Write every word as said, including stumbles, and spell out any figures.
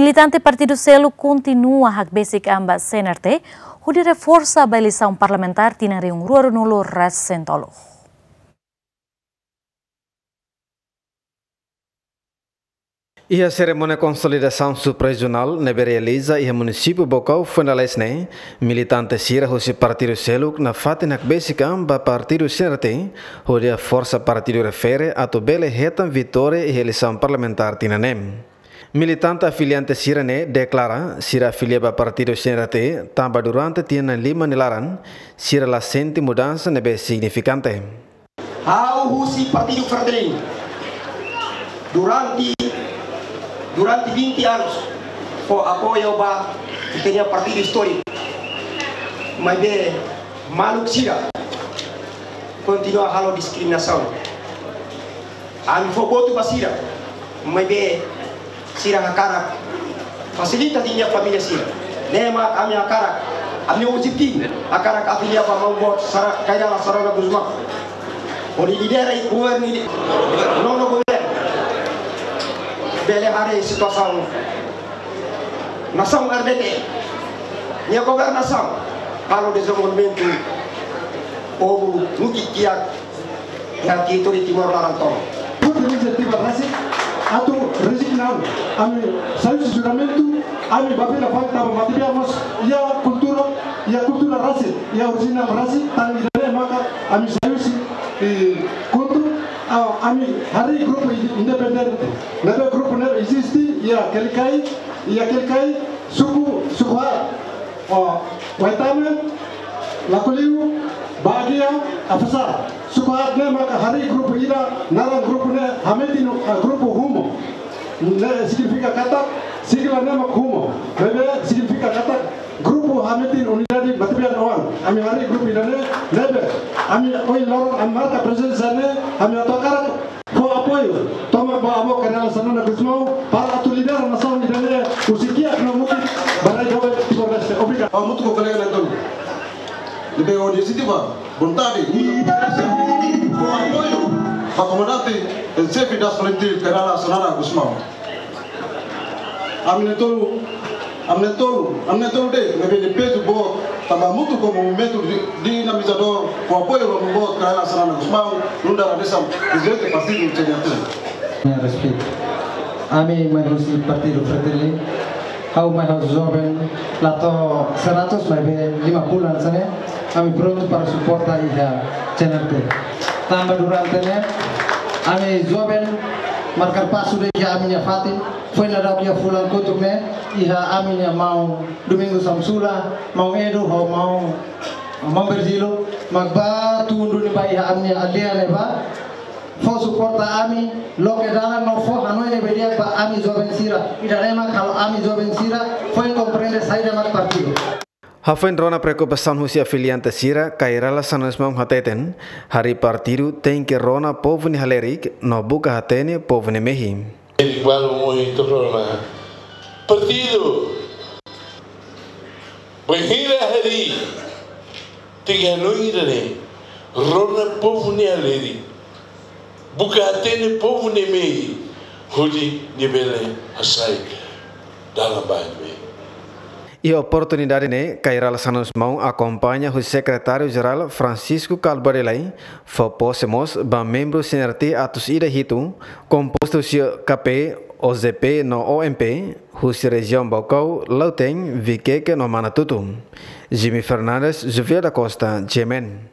Militante partidu seluk kontinua hakbesik an ba C N R T, hodi reforsa ba eleisaun parlamentár tinan rihun rua ruanulu resin tolu. Iha serimónia konsolidasaun suprarejionál ne'ebé realiza iha munisípiu Baucau foin lalais ne'e, militante sira husi partidu seluk nafatin hakbesik an ba partidu C N R T, hodi reforsa partidu refere atu bele hetan vitória iha eleisaun parlamentár tinan ne'e. Militante afiliante sira-ne'e deklara, sira afilia ba partidu C N R T, tanba durante tinan lima nia laran, sira la sente mudansa ne'ebé signifikante. Ha'u husi Partidu Fretilin durante, durante vinte anos, fó apoiu ba ita-nia partidu istóriku. Maibé maluk sira kontinua halo diskriminasaun. Ami fó votu ba sira, maibé sira hakarak fasilita ita-nia família sira. Ne'e mak ami hakarak, ami-nia objetivu hakarak afilia ba maun boot Sara, Kay Rala Xanana Gusmão, hodi lidera governu, nonu governu, bele haree situasaun nasaun R D T nia governasaun, halo dezenvolvimentu, povu mukit kiak iha territóriu Timor laran tomak. Foti inisiativa rasik atu rezigna an, ami sai husi juramentu, ami bá fila fali tanba matebian mós iha kultura, iha kultura rasik, iha orijina rasik, tan ida-ne'e maka ami sai husi, eh, kultura, ah, ami harii grupu independente. Ne'ebé grupu ne'e eziste iha Quelicai, iha Quelicai, suku, suku haat, oh, Waitame, Lacoliu, Baguia, Afaxá. Suku haat ne'e maka harii grupu ida, naran grupu ne'e hametin, ah, grupu Humo. Ne'e signifika katak, sigla ne'e mak Humo. Ne'ebé signifika katak grupu hametin unidade matebian-oan. Ami harii grupu ida-ne'e, ne'ebé ami ohin loron ami marka prezensa ne'e, ami atu hakarak fó apoiu tomak ba avó Kay Rala Xanana Gusmão para atu lidera nasaun ida-ne'e husi kiak no mukit ba rai doben Timor-Leste. Obrigadu. Hamutuk ho kolega na'in-tolu ne'ebé ho inisiativa, vontade, fó apoiu ba komandante en xefe das FRETILIN Kay Rala Xanana Gusmão. Ami na'in-tolu, ami na'in-tolu, ami na'in-tolu de'it ne'ebé iha pezu boot, tanba hamutuk ho movimentu di-, dinamizadór, ho apoiu ba maun boot Kay Rala Xanana Gusmão, nu'udar hanesan prezidente partidu C N R T. Nia respeitu. Ami mai husi Partidu Fretilin, ha'u mai husi joven, la to'o seratus maibé lima puluh hanesan ne'e, ami prontu para suporta iha C N R T. Tanba durante ne'e, ami joven marka pasu de'it iha ami-nia fatin, foin daudauk iha fulan kotuk ne'e, iha ami-nia maun Domingos Hamsula, maun Edu, ho maun, maun Virgílio, mak bá tun duni bá iha ami-nia aldeia ne'ebá, fó suporta ami, loke dalan no fó hanoin ne'ebé di'ak ba ami joven sira. Ida-ne'e mak halo ami joven sira foin komprende saida mak partidu. Hafoin rona preokupasaun husi afiliante sira, Kay Rala Xanana Gusmão hateten, harii partidu tenke rona povu nia halerik, no buka hatene povu nia mehi. Erik balu mohi torona. Partidu bainhira harii, tenke hanoin ida-ne'e, rona povu nia halerik, buka hatene povu nia mehi, hodi nia bele hasai dalan ba nia mehi. Iha oportunidade ne'e, Kay Rala Xanana Gusmão akompaña husi Sekretáriu Jerál Francisco Calvo Barilai, fó pose mós ba membru C N R T atus ida hitu, kompostu husi K P, O J P no O M P, husi rejiaun Baucau, Lautém, Viqueque no Manatuto. Jimmy Fernandes, Juvia da Costa, G M N.